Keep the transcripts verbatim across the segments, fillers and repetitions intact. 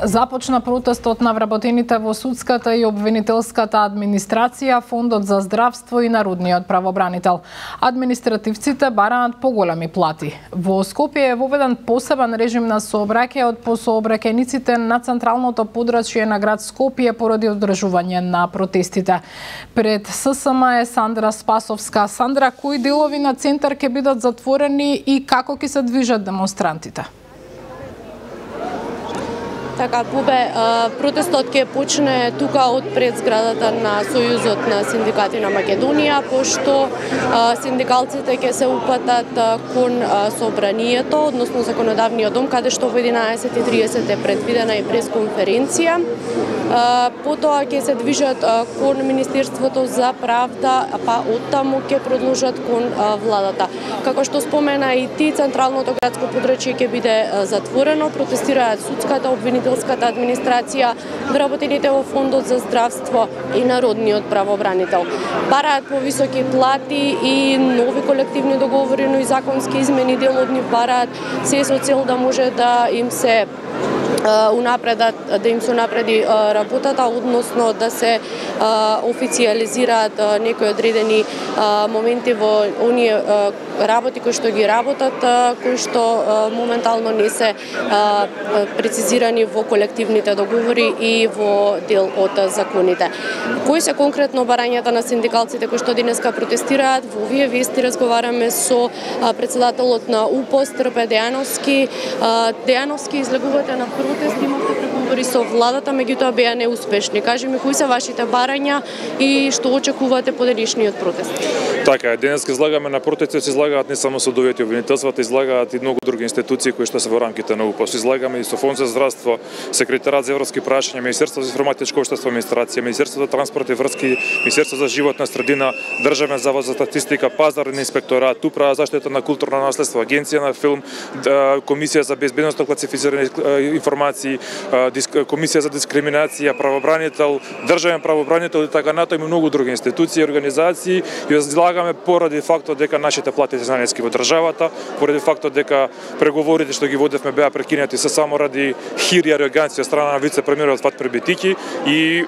Започна протестот на вработените во судската и обвинителската администрација, Фондот за здравство и Народниот правобранител. Административците бараат поголеми плати. Во Скопје е воведен посебен режим на сообраќај од по сообраќајниците на централното подрачје на град Скопје поради одржување на протестите. Пред ССМ е Сандра Спасовска. Сандра, кои делови на центар ќе бидат затворени и како ќе се движат демонстрантите? Така, Бубе, протестот ќе почне тука од пред зградата на Сојузот на синдикати на Македонија, пошто синдикалците ќе се упатат кон собранието, односно законодавниот дом, каде што во единаесет и тридесет е предвидена и пресконференција. Потоа ќе се движат кон Министерството за правда, па оттаму ќе продолжат кон владата. Како што спомена и ти, централното градско подрачје ќе биде затворено, протестираат судската, обвинителската администрација, вработените во Фондот за здравство и Народниот правобранител. Бараат повисоки плати и нови колективни договори, но и законски измени, дел од нив бараат се со цел да може да им се унапредат, да им се унапреди работата, односно да се официализираат некои одредени моменти во оние работи кои што ги работат, кои што моментално не се прецизирани во колективните договори и во дел од законите. Кои се конкретно барањата на синдикалците кои што денеска протестираат? Во овие вести разговараме со председателот на УПОС Трпе Дејановски. Дејановски, излегувате на протест, имавте преговори со владата, меѓутоа беа неуспешни. Кажи ми, кои се вашите барања и што очекувате по денешниот протест? Така, денеска излагаме на протести, се излагаат не само судовите и обвинителствата, излагаат и многу други институции кои што се во рамките на УПОС. Излагаме и со Фонд за здравство, Секретарат за европски прашања, Министерство за информатичко општество и администрација, Министерство за транспорт и врски, Министерство за животна средина, Државен завод за статистика, Пазарен инспекторат, Управа за заштита на културно наследство, Агенција на филм, Комисија за безбедност на класифицирани информации, Комисија за дискриминација, правобранител, Државен правобранител и така натаму и многу други институции и организации. И излагаме поради фактот дека нашите плати се наниски во државата, поради фактот дека преговорите што ги водевме беа прекинати се само ради хир и ароганција од страна на вице-премиерот Фатмир Битики и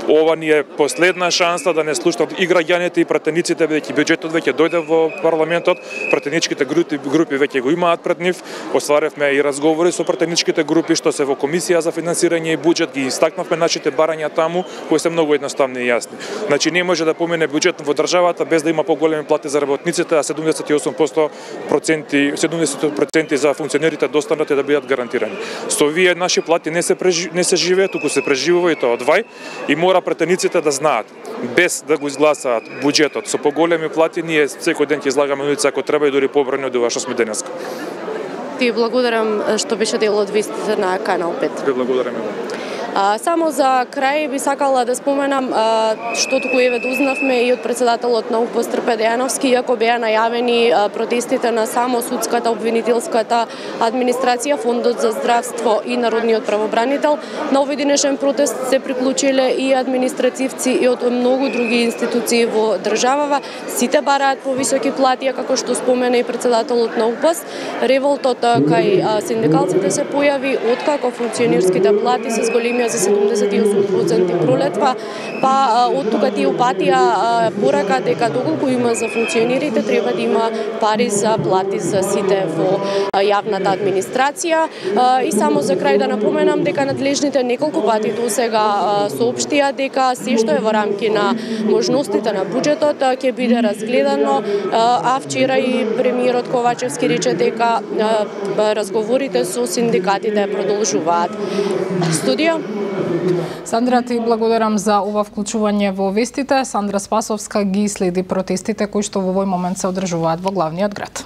ова ни е последна шанса да не слушнат и граѓаните и пратениците, бидејќи бюџетот веќе дојде во парламентот, пратеничките групи, групи веќе го имаат пред нив. Остваревме и разговори со пратеничките групи што се во Комисија за финансирање и буџет, ги истакнавме нашите барања таму, кои се многу едноставни и јасни. Значи не може да помине бюџет во државата без да има поголеми плати за работниците, а седумдесет и осум проценти седумдесет проценти за функционерите да останат и да бидат гарантирани. Со овие наши плати не се прежи, не се живее, туку се преживува и тоа од вај и мора претениците да знаат, без да го изгласаат буџетот со поголеми плати, ние секој ден ќе излагаме улица ако треба и дури побрани од ова што сме денеска. Ти благодарам што беше дел од вестите на Канал пет. Ви благодарам. А, само за крај би сакала да споменам а, што туку еве дознавме и од председателот на УПОС Трпе Дејановски, иако беа најавени а, протестите на само судската, обвинителската администрација, Фондот за здравство и Народниот правобранител, на овој денешен протест се приклучиле и административци и од многу други институции во државава. Сите бараат повисоки плати, како што спомена и председателот на УПОС. Револтот кај а, синдикалците се појави откако функционерските плати се зголемија за седумдесет и осум проценти пролетва, па од тука тие упатија порака дека доколку има за функционерите, треба да има пари за плати за сите во јавната администрација. И само за крај да напоменам дека надлежните неколку пати до сега соопштија дека се што е во рамки на можностите на буџетот ќе биде разгледано, а вчера и премиерот Ковачевски рече дека разговорите со синдикатите продолжуваат. Студио. Сандра, ти благодарам за ова вклучување во вестите. Сандра Спасовска ги следи протестите кои што во овој момент се одржуваат во главниот град.